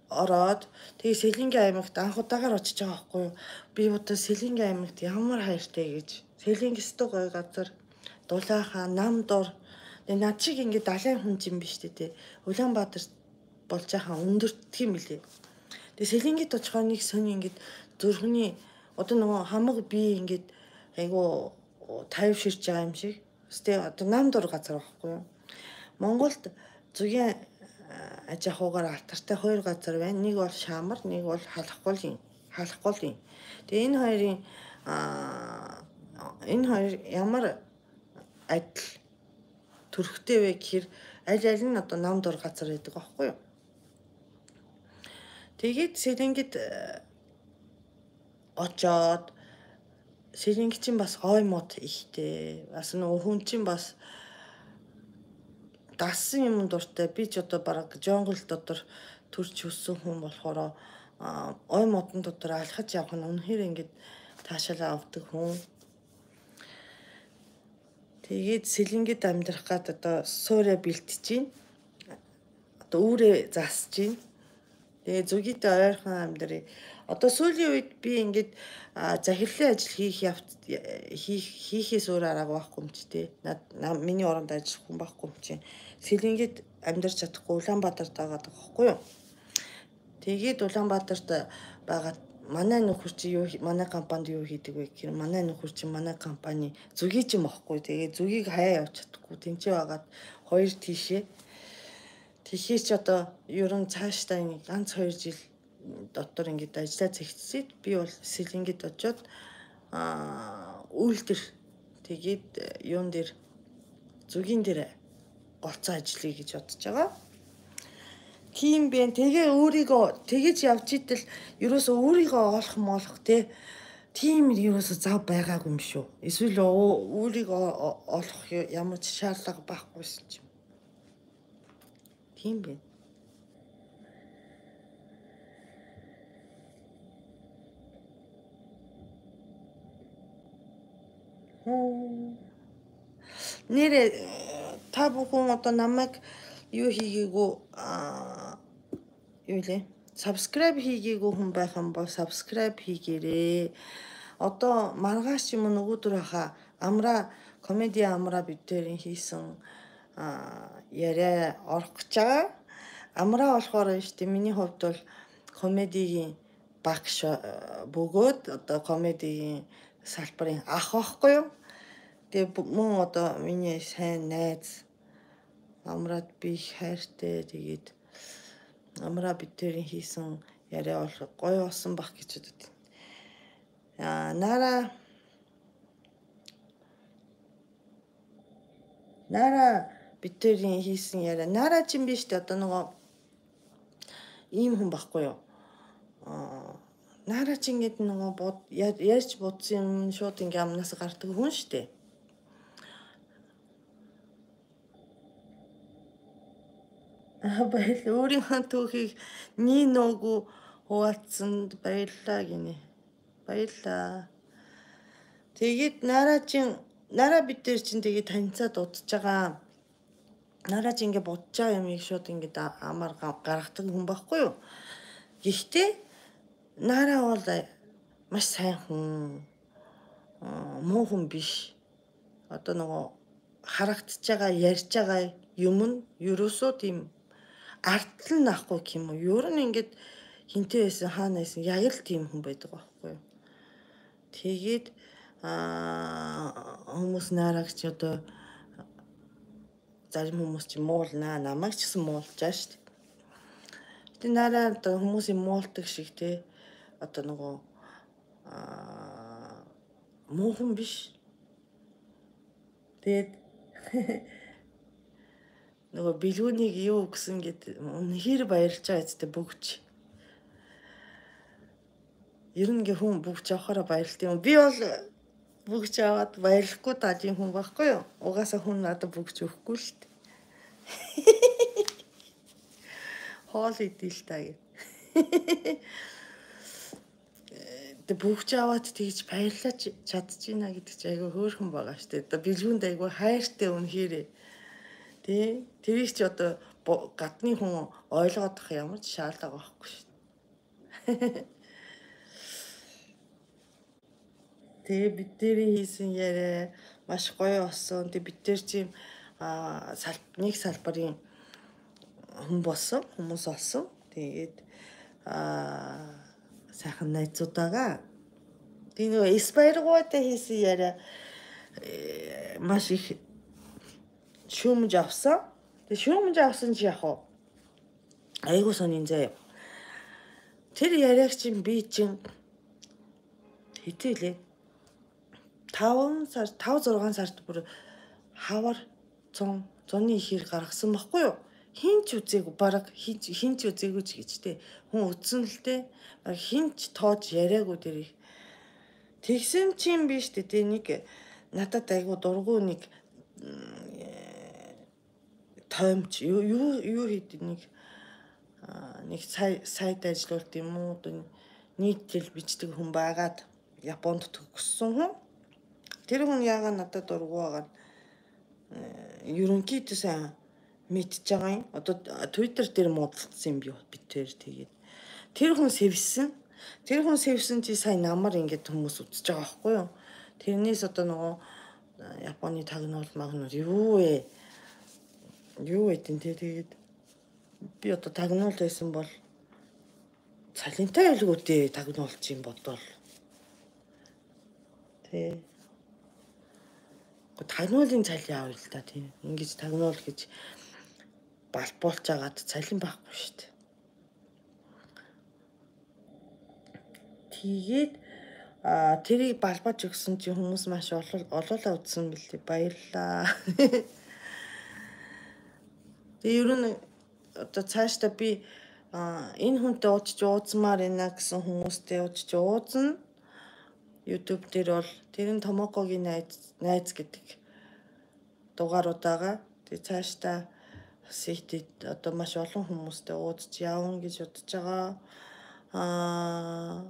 ороод тэгээ Сэлингийн аймагт анх удагаар очиж байгаа байхгүй юу. Би одоо Сэлингийн аймагт ямар хайртай гэж. Сэлинг өстө гоё газар. Дулаахан, Намдор. Тэгээ над шиг ингээд далайн хүн юм биш тэ. Улаанбаатар болж байгаа өндөртг юм билээ. Тэгээ Сэлингид очихоор нэг сони ингээд зүрхний одоо нөгөө хамаг би ингээд айгу тайвширч байгаа юм шиг. Тэ одоо Намдор газар байхгүй юу. Монголд зүгийн аж ахуйгаар алтартай хоёр газар байна. Нэг бол Шаамар, нэг бол Халахгуулын. Халахгуулын. Тэгээ энэ хоёрын энэ хоёр ямар адил төрхтэй вэ гэхээр аль аль нь одоо Намдор газар байдаг байхгүй юу. Тэгээд Сэлингид очоод Сэлинг чинь бас ой мод ихтэй. Бас нөгөө хүн чинь бас дассан юм дуртай. Би ч одоо бараг жонгол дотор төрч өссөн хүн болохоор ой модон дотор алхаж явах нь үнэхээр ингээд таашаалаа авдаг хүн. Тэгээд Сэлингид амьдрах гад одоо суурэ бэлтэж чинь. Одоо үүрээ засж чинь. Тэгээ зүгийдээ ойрхон амьдрий. Одоо сүүлийн үед би ингээд захирлын ажил хийх явц хийх хийхээс өөр арга байхгүй юм чи тээ. Миний оронд ажиллах хүн байхгүй юм чи. Сэлингид амьдарч чадахгүй Улаанбаатарт байгаа байхгүй юу. Тэгээд Улаанбаатарт байгаа манай нөхөр чи юу манай компанид юу хийдэг вэ гэхээр манай нөхөр чи манай компани зүгий ч юм байхгүй. Тэгээд зүгийг хаяа явж чадахгүй. Тэнцээ байгаад хоёр тийшээ. Тэгэхээр ч одоо ер нь цаашдаа нэг ганц хоёр жил дотор ингээд ажиллаа зэгцсэд би бол Сэлингид очоод аа үйлдэл тэгээд юун дээр зүгийн дээр голцоо ажиллая гэж бодож байгаа. Тийм бэ. Тэгээ өөрийгөө тэгэж явж итэл ерөөсөө өөрийгөө олох молох те тийм ерөөсөө зав байгаагүй юм шүү. Эсвэл өөрийгөө олох ямар ч шаардлага байхгүйсэн юм. Тийм бэ. Нэрээ та бүхэн одоо намайг юу хийгээгүй юу лээ subscribe хийгээгүй хүн байх юм бол subscribe хийгээрээ. Одоо маргааш юм нөгөөдөр хаа амра комеди амра бидэрийн хийсэн яриа орох гэж байгаа. Амра болохоор нь штэ миний хувьд бол комедигийн багш бөгөөд одоо комедигийн салбарын ах байхгүй юу. Тэгээ мөн одоо миний сайн найз амраад би хайртай тэгээд амра бидэрийн хийсэн яриа бол гоё болсон бах гэж бодод. Аа нара нара бидэрийн хийсэн яриа нара ч юм биш тэ одоо нөгөө ийм хүн байхгүй юу. Аа нара ч ингэдэг нөгөө ярьж бодсон юм шууд ингээм амнаас гардаг хүн штэ. Баяр өөрийнхөө түүхийг nii нөөгүй хуваалцсанд баярлалаа гинэ. Баярлалаа. Тэгээд нараа чин нараа бид дээр чин тэгээд танилцаад удаж байгаа. Нараа чи ингэ бодож байгаа юмыг шууд ингэ амар гаргадаг хүн байхгүй юу? Гэхдээ нараа бол маш сайн хүн. Муу хүн биш. Одоо нөгөө харагдаж байгаа, ярьж байгаа юм нь ерөөсөө тийм ардтал нь ахгүй юм уу? Ер нь ингээд хинтээ байсан хаана байсан яг л тийм хүн байдаг байхгүй юу? Тэгээд аа хүмүүс наарагч одоо зарим хүмүүс чи муулнаа, намайг ч гэсэн муулж байгаа шүү дээ. Гэтэ нараа одоо хүмүүсийн муулдаг шиг те одоо нөгөө аа муухан биш. Тэгээд нөгөө бэлгүүнийг юу өгсөн гэд үнэхээр баярлж байгаа зү бүгч. Ер нь гээ хүн бүгч авахаараа баярлт юм. Би бол бүгч аваад баярлахгүй даажийн хүн байхгүй юу? Угаасаа хүн надад бүгч өгөхгүй л дээ. Хоол идэв л та гэ. Тэг бүгч аваад тэгж баярлаж чадчихна гэдэг чи айгүй хөөрхөн байгаа штэ. Одоо бэлгүүнд айгүй хайртай үнэхээр. Тэ тэрийг чи одоо гадны хүн ойлгоодох ямар ч шаардлага байхгүй штэ. Тэгээ бид нэрийн хийсэн яриа маш гоё болсон. Тэг бид тэр чим а нэг салбарын хүн болсон, хүмүүс болсон. Тэгээд а сайхан найзуудаагаа тийм нөгөө Испаиргуудаа хийсэн яриа маш их шүүмж авсан. Тэг шүүмж авсан чи яг уу айгуу сонин заяа. Тэр яриаг чинь би чинь хитээлээ таван сар тав зургаан сард бүр хавар цон зуны ихэр гаргасан баггүй юу? Хинч үзээгүй баг хинч хинч үзээгүй ч гэж те хүн үтсэн л те хинч тоож яриаггүй дэрийг тэгсэн чинь биш те нэг надад айгу дургу нэг тоймч юу юу хэд нэг нэг сайд ажиллуулт юм уу нийтлэл бичдэг хүн байгаад Японд төгссөн хүн тэр хүн яагаад надад дургу байгаа ерөнхийдөө сайн мэдж байгаа юм. Одоо Twitter дээр муудалцсан юм би битээр тэгээд тэр хүн сэвсэн. Тэр хүн сэвсэн чи сайн намар ингээд хүмүүс үзэж байгаа байхгүй юу? Тэрнээс одоо нөгөө Японы тагнуул магнууд юу вэ? Юу вэ тийм тэгээд би одоо тагнуул байсан бол цалинтай байлгуудээ тагнуулж юм бодвол тий тагнуулын цалин авъя л та тийм ингэж тагнуул гэж балбуулж агаад цалин байхгүй шүү дээ. Тэгээд а тэрийг балбаж өгсөн чи хүмүүс маш олоолаа үзсэн бэлээ баярлаа. Тэгээ ер нь одоо цаашдаа би энэ хүнтэй уудч уудсмаар байна гэсэн хүмүүстэй уудч уудна. YouTube дээр бол тэр нь Томокогийн найз найз гэдэг дугааруудаага тэгээ цаашдаа сэтид одоо маш олон хүмүүстэй уудч явна гэж бодож байгаа. Аа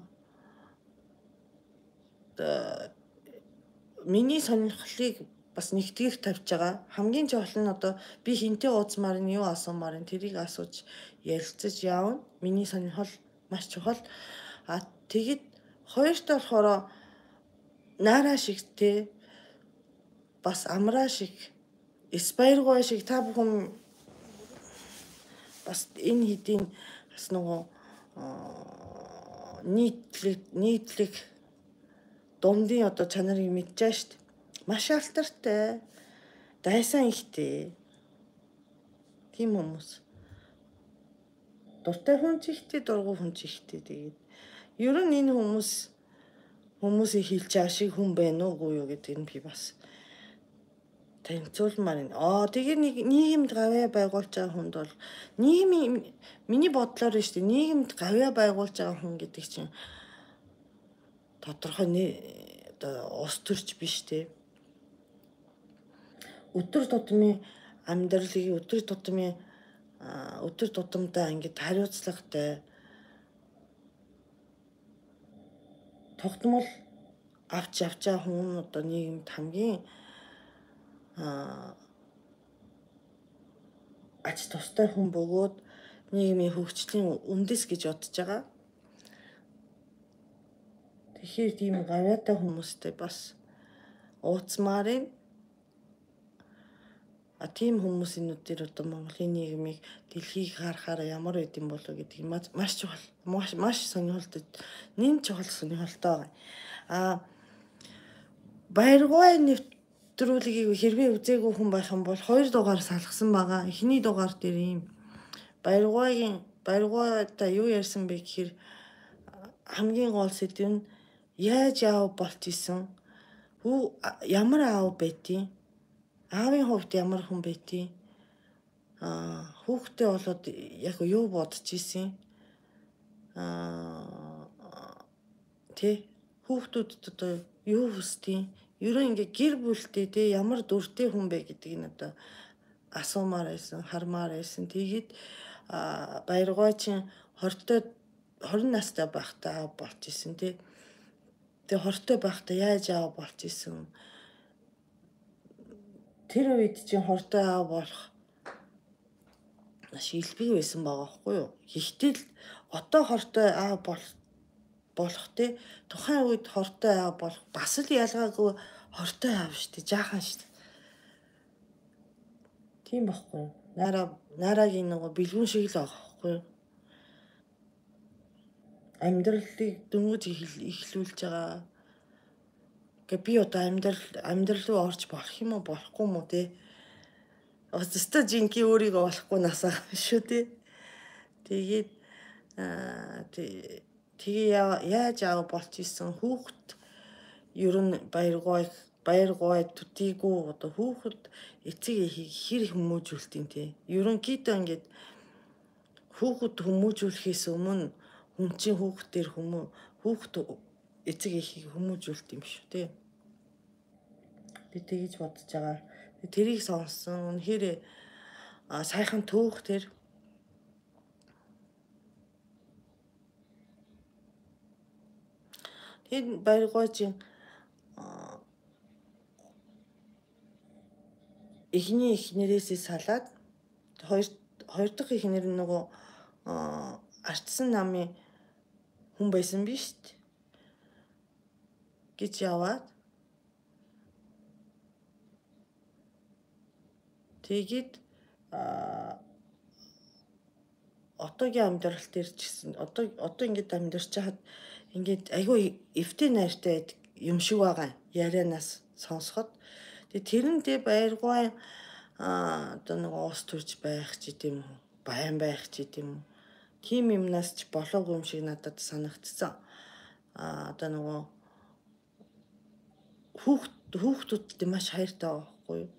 миний сонирхлыг бас нэгтгэх тавьж байгаа. Хамгийн чухал нь одоо би хинтээ уудсмаар нь юу асуумаар нь тэрийг асууж ярилцаж явна. Миний сонирхол маш чухал. А тэгэд хоёрт болохоор Нара шиг те бас амраа шиг Испаиргуй шиг та бүхэн бас энэ хэдийн бас нөгөө нийтлэг нийтлэг дундын одоо чанарыг мэдчихэж штт. Маш алтартай. Дайсан ихтэй. Тийм хүмүүс. Дуртай хүн ч ихтэй, дургуй хүн ч ихтэй. Тэгээд ер нь энэ хүмүүс хүмүүсийг хилж байгаа шиг хүн байна уугүй юу гэдэг нь би бас танилцуулмаар байна. Аа тэгээ нэг нийгэмд гавьяа байгуулж байгаа хүнд бол нийгмийн миний бодлоор нь шүү дээ нийгэмд гавьяа байгуулж байгаа хүн гэдэг чинь тодорхой нэ одоо ус төрч биш те. Өдөр тутмын амьдралыг өдөр тутмын өдөр тутамдаа ингэж хариуцлагатай тогтмол авч явж байгаа хүн одоо нийгэмд хамгийн ач тустай хүн бөгөөд нийгмийн хөгжлийн үндэс гэж бодож байгаа. Тэгэхээр тийм гавьяатай хүмүүстэй бас ууцмаар а тийм хүмүүсийн нүдээр одоо Монголын нийгмийг дэлхийг харахаар ямар байд юм болов гэдгийг маш чухал маш маш сонирхолтой нэн чухал сонирхолтой байгаа. А Баяргуй нэвтрүүлгийг хэрвээ үзээгүй хүн байх юм бол хоёр дугаар салгасан байгаа. Эхний дугаар дээр ийм Баяргуйгийн Баяргуйда юу ярьсан бэ гэхээр хамгийн гол сэдв нь яаж аав болж исэн? Хүү ямар аав байдیں? Аавын хувьд ямар хүн байдیں? Аа хүүхдээ болоод яг юу бодож исэн? Аа тий хүүхдүүдэд одоо юу хүсдэг? Ерөн ингээ гэр бүлтэй тий ямар дүртэй хүн бэ гэдгийг нь одоо асуумаар байсан, хармаар байсан. Тэгээд баяргойчин хортой хорин настай байхдаа аав болж исэн тий. Тэгээ хортой байхдаа яаж аав болж исэн? Тэр үед чинь хортой аав болох маш илбэг байсан байгаа байхгүй юу? Гэхдээ л одоо хортой аав болох болох тий тухайн үед хортой аав болох бас л ялгаагүй хортой аав шүү дээ. Жаахан шүү дээ. Тийм байхгүй юу? Нараа нарагийн нөгөө бэлгүүн шиг л байгаа байхгүй юу? Амьдралыг дөнгөж эхлүүлж байгаа. Гэ би одоо амьдрал амьдрал руу орж болох юм уу болохгүй юм уу те? Өстө жинки өөрийгөө болохгүй насаа шүү те. Тэгээд аа тэгээ яаж аав болж исэн хүүхэд ер нь баяргой баяргой төдийгүй одоо хүүхэд эцэг эхийг хэр хүмүүжүүлт юм те. Ерөнхийдөө ингээд хүүхэд хүмүүжүүлэхээс өмнө хүн чинь хүүхдээр хүмүү хүүхэд эцэг эхийг хүмүүжүүлт юм шүү те. Би тэгэж бодож байгаа. Тэрийг сонссон үнэхээр сайхан төөх тэр. Тэгээд баяргойчин эхний эхнэрээсээ салаад хоёр хоёр дахь эхнэр нь нөгөө ардсан намын хүн байсан биз дээ. Гэж яваад тэгээд одоогийн амьдрал дээр ч гэсэн одоо одоо ингээд амьдарч хаад ингээд айгүй эвтэй найртай юм шиг байгаа ярианаас сонсоход тэгээд тэрэндээ баяргой одоо нэг уус төрж байх ч гэдэм үү баян байх ч гэдэм үү тийм юмнаас ч болоогүй юм шиг надад санагдсан. А одоо нөгөө хүүхд хүүхдүүдтэй маш хайртай байхгүй юу?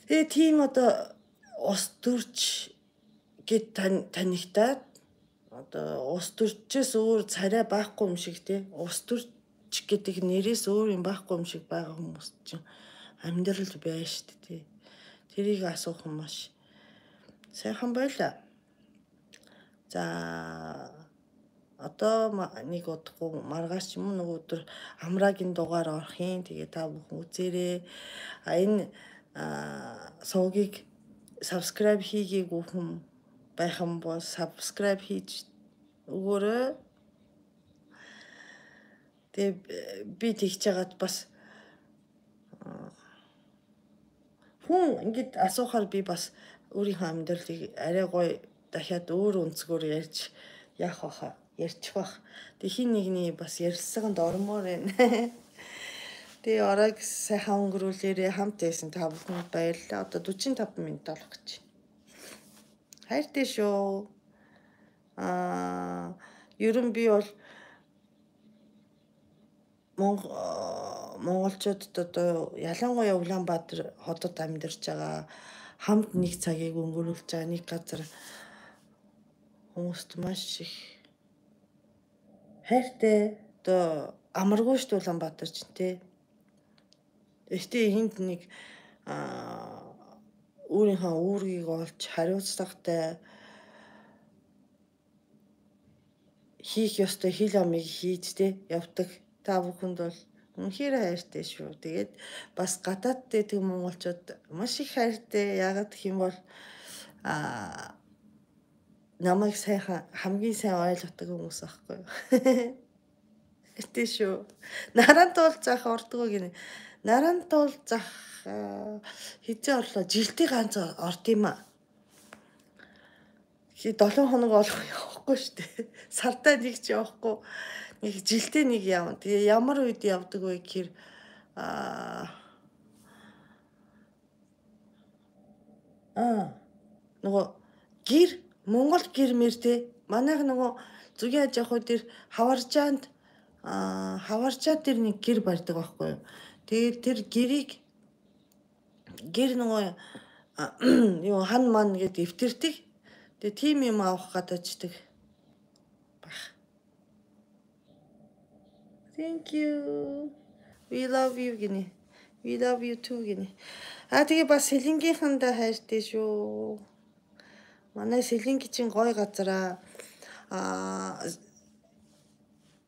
Тэгээ тийм одоо ус төрж гэд танигтаад одоо ус төрчөөс өөр царай байхгүй юм шиг те ус төрч гэдэг нэрээс өөр юм байхгүй юм шиг байгаа хүмүүс чинь амьдрал байна шүү дээ. Тэрийг асуух юм маш сайхан байлаа. За одоо нэг удахгүй маргааш юм нэг өдөр амраагийн дугаар орох юм. Тэгээ та бүхэн үзээрэй. А энэ сувгийг subscribe хийгээгүй хүн байх юм бол subscribe хийж өгөөрэй. Тэгээ би тэгж яагаад бас хүн ингэж асуухаар би бас өөрийнхөө амьдралыг арай гоё дахиад өөр өнцгөр ярьж яах вэ? Ярьчих бах. Тэг хин нэгний бас ярилцлаганд ормоор байна. Тэгээ оройг сайхан өнгөрүүлээрээ хамт байсан та бүхэнд баярлалаа. Одоо дөрвөн таван минут болох гэж. Хайртай шүү. Аа, ерөн би бол монголчуудад одоо ялангуяа Улаанбаатар хотод амьдарч байгаа хамт нэг цагийг өнгөрүүлж байгаа нэг газар хүмүүст маш их хайртай одоо амаргүй шүү дээ Улаанбаатар ч тий. Гэхдээ энд нэг өөрийнхөө үүргийг олж хариуцлагатай хийх ёстой хил амыг хийж тий явдаг та бүхэнд бол үнэхээр хайртай шүү. Тэгээд бас гадаадд тэг монголчууд маш их хайртай. Яагаад гэх юм бол а намайг сайхан хамгийн сайн ойлгодог хүмүүс аахгүй юу. Тэ шүү. Наран туул зах ордгоо гинэ. Наран туул зах хизээ орлоо жилдээ ганц орд юм а. Хи долоо хоног болох явахгүй шүү дээ. Сартаа нэг ч явахгүй. Нэг жилдээ нэг явна. Тэгээ ямар үед явдаг вэ гэхээр аа аа нөгөө гэр Монгол гэр мэр те манайх нөгөө зүгийн аж ахуй дээр хаваржаанд аа хаваржаа дээр нэг гэр барьдаг байхгүй юу. Тэгээд тэр гэрийг гэр нөгөө юу хан ман гэд эвтэрдэг. Тэгээ тим юм авах гадаачдаг баг. Thank you. We love you гинэ. We love you too гинэ. Аа тэгээ бас Сэлэнгийнхандаа хайртай шүү. Манай Сэлэнги чинь гоё газараа. Аа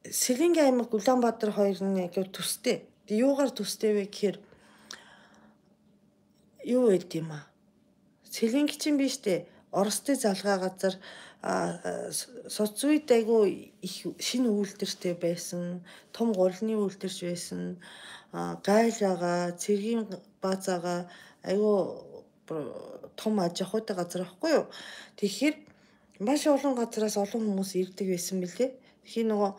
Сэлэнги аймаг Улаанбаатар хоёр нь яг төстэй. Тэгээ юугаар төстэй вэ гэхээр юу байд юм аа. Сэлэнги чинь биш дээ. Оростой залгаа газар соц үед айгүй их шинэ үйлдвэртэй байсан, том гурилны үйлдвэрч байсан, гайл байгаа, цэргийн бааз байгаа, айгүй том аж ахуйтай газар байхгүй юу. Тэгэхээр маш олон газараас олон хүмүүс ирдэг байсан мэлээ. Тэгэхээр нөгөө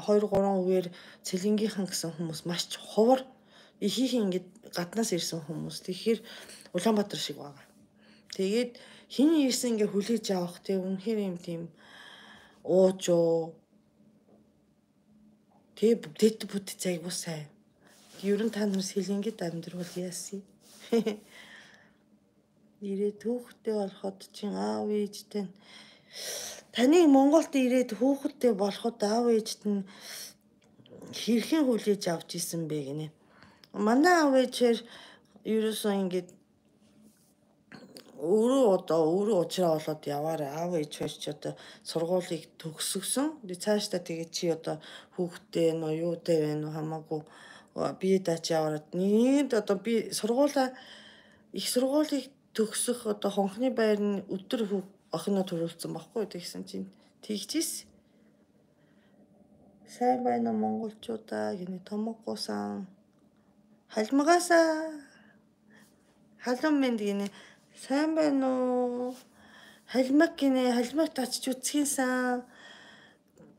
хоёр гурван үеэр Сэлэнгийнхан гэсэн хүмүүс маш ховор ихийнх ингээд гаднаас ирсэн хүмүүс. Тэгэхээр Улаанбаатар шиг байгаа. Тэгээд хин ирсэн ингээ хүлээж авах тийм үнэхээр юм тийм уужуу тэг бүтэт бүтэт айгуу сайн. Ер нь та нар Сэлэнгид амьдрал яасан. Ирээд хүүхдтэй болоход чинь аав ээжтэй таны Монголд ирээд хүүхдтэй болоход аав ээжт нь хэрхэн хүлээж авч исэн бэ гинэ. Манай аав ээжээр ерөөсөө ингээд өөрөө одоо өөрөө уучраа болоод яваарай. Аав ээж хоёр ч одоо сургуулийг төгсгсөн. Тэгээ цаашдаа тэгээ чи одоо хүүхдтэй нөө юутай байна уу хамаагүй бие даач яваад нийт одоо би сургуулаа их сургуулийг төгсөх одоо хонхны байр нь өдөр охиноо төрүүлсэн баггүй тэгсэн чинь тэгчихсэн. Сайн байна уу монголчуудаа гинэ томоггуусан халмгаасаа халуун мэнд гинэ сайн байна уу халмаг гинэ халмаг татч үзхийнсэн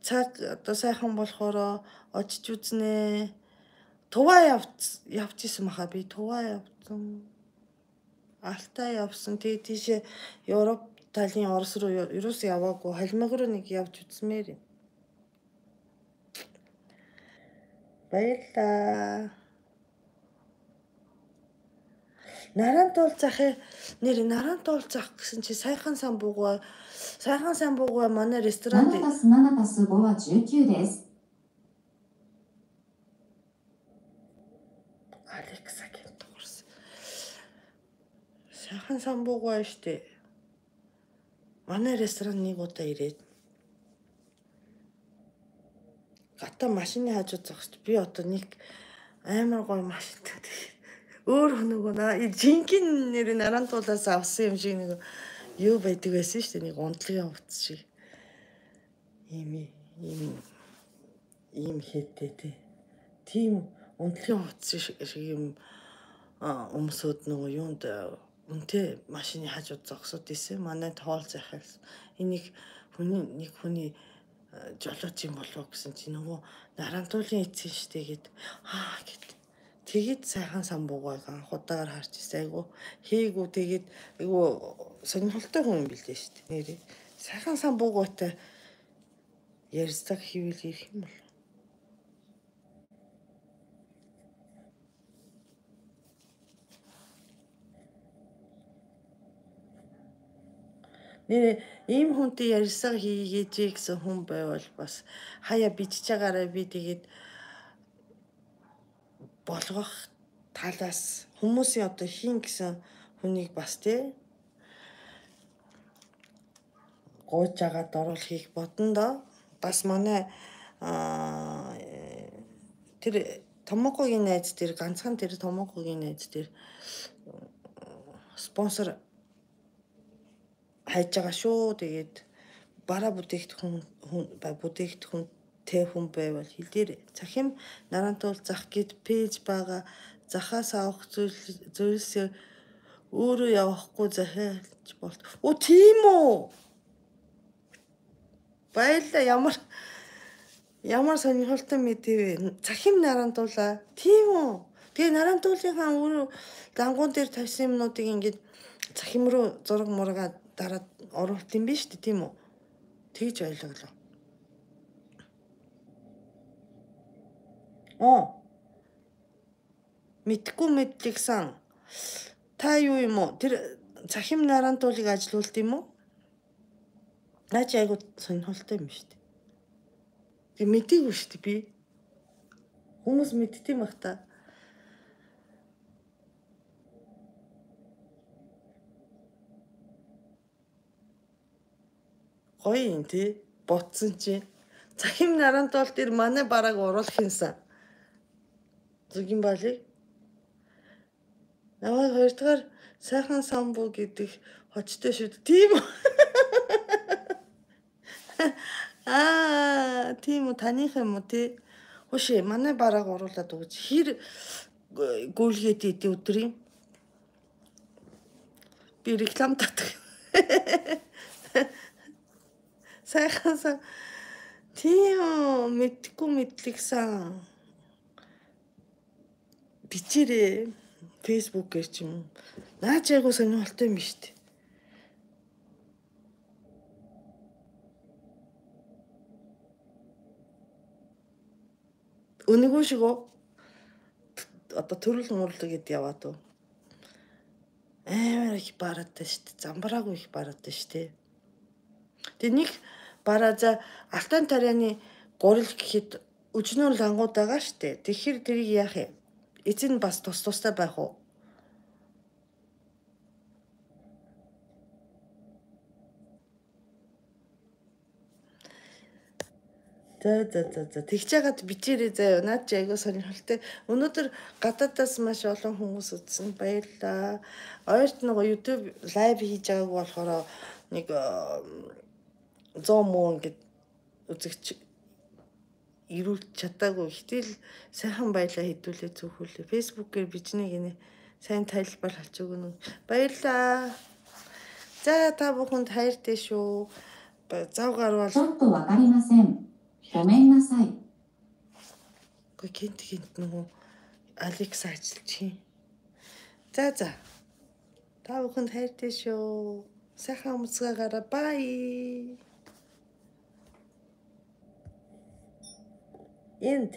цаг одоо сайхан болохоор очиж үзнэ. Туваа явц явж исэн баха би туваа явсан. Алтаа явсан. Тэгээ тийшээ Европ талын Орос руу ерөөс яваагүй халмаг руу нэг явж үзмээр юм. Баярлаа. Нарант уулзах нэр нарант уулзах гэсэн чи сайхан самбуугаа сайхан самбуугаа манай ресторандななたすななたすごはじゅうきゅうです。Алекса гэнт дуурсан. Сайхан самбуугаа штэ. Манай ресторан нэг удаа ирээд гата машины хажууд зогсож би одоо нэг амар гоё машинтай өөр нөгөө жинхэнэ нэр нарантуулаас авсан юм шиг нэг юу байдаг байсан шүү дээ. Нэг унтлагын хувцас шиг. Ийм ийм ийм хэдтэй тий. Тийм унтлагын хувцас шиг юм өмсөд нөгөө юунд үнтэй машины хажууд зогсоод исэн. Манай тоол захиалсан. Энийг хүний нэг хүний жолооч юм болов гэсэн чи нөгөө нарантуулын эцэн штэ гэд аа гэд тэгээд сайхан самбуугаа анх удаагаар харж ирсэн. Айгу хийгүү тэгээд айгу сонирхолтой хүн юм билээ штэ. Нэрээ сайхан самбуугаатай ярьцаг хийвэл ирэх юм бол нэр ийм хүнтэй ярьсаг хийгээч гэсэн хүн байвал бас хаяа бичиж байгаараа би тэгээд болгох талаас хүмүүсийн одоо хийн гэсэн хүнийг бас тий гооч агаад оруулахыг бодно доо. Бас манай тэр Томокогийн найз тэр ганцхан тэр Томокогийн найз тэр спонсор хайж байгаа шүү. Тэгээд бараа бүтээгдэхүүн бүтээгдэхүүн тэ хүн байвал хэлдэр цахим нарантуул зах гэд пэйж байгаа захаас авах зүйлсээ өөрөө явахгүй захиалж болт. Оо тийм үү. Баярлаа ямар ямар сонирхолтой мэдээ вэ? Цахим нарантуулаа. Тийм үү. Тэгээ нарантуулынхаа өөрөө дангуун дээр тавьсан юмнуудыг ингээд цахим руу зураг мургаа дараад оруулт юм биш үү тийм үү? Тэгж ойлголоо. Оо. Мэдхгүй мэдлэгсэн. Та юу юм уу? Тэр цахим нарантуулыг ажилуулд юм уу? Наач айгуу сонирхолтой юм шүү дээ. Тэг мэдээгүй шүү дээ би. Хүмүүс мэдтiin бах та. Гоё юм тий. Ботсон чи. Цахим нарантуул дээр манай бараг уруулах юмсан. Зүгийн балыг. Намайг хоёрдугаар сайхан самбуу гэдэг хочтой шүү дээ. Тийм үү? Аа, тийм үү, таних юм уу тий? Хөшөө, манай бараг уруулаад өгч. Хэр гүйлгээд идэв өдрийн? Би реклам татдаг. Сайхан сан. Тийм үү, мэдхгүй мэдлэгсэн. Бичээрээ Facebook-ээр ч юм. Наач айгуу сонирхолтой юм шүү дээ. Өнөөгөө шигөө одоо төрөл мөрлөг гэд яваад уу. Амар их бараатай шүү дээ. Замбраагүй их бараатай шүү дээ. Тэг нэг бараа за алтан тарианы гурил гэхэд өчнөр лангууд байгаа шүү дээ. Тэгэхээр тэрийг яах юм? Эзэн бас тус тустай байх уу? За за за за тэгж яагаад бичээрээ заяа. Наад чи айгуу сонирхолтой. Өнөөдөр гадаадаас маш олон хүмүүс үзсэн. Баярлалаа. Ойрт нөгөө YouTube лайв хийж байгааг болохоор нэг сто мөн гэд үзэгч ирүүлж чадаагүй. Гэтэл сайхан баялаа хэдүүлээ зөвхүүлээ. Facebook-ээр бичнэ гинэ. Сайн тайлбар авч өгнө. Баярлалаа. За та бүхэнд хайртай шүү. Зав гарвал ちょっとわかりません。ごめんなさい。 Гүй гинт гинт нөгөө Алекс ажиллаж. За за. Та бүхэнд хайртай шүү. Сайхан амцгаагаараа бай. Энд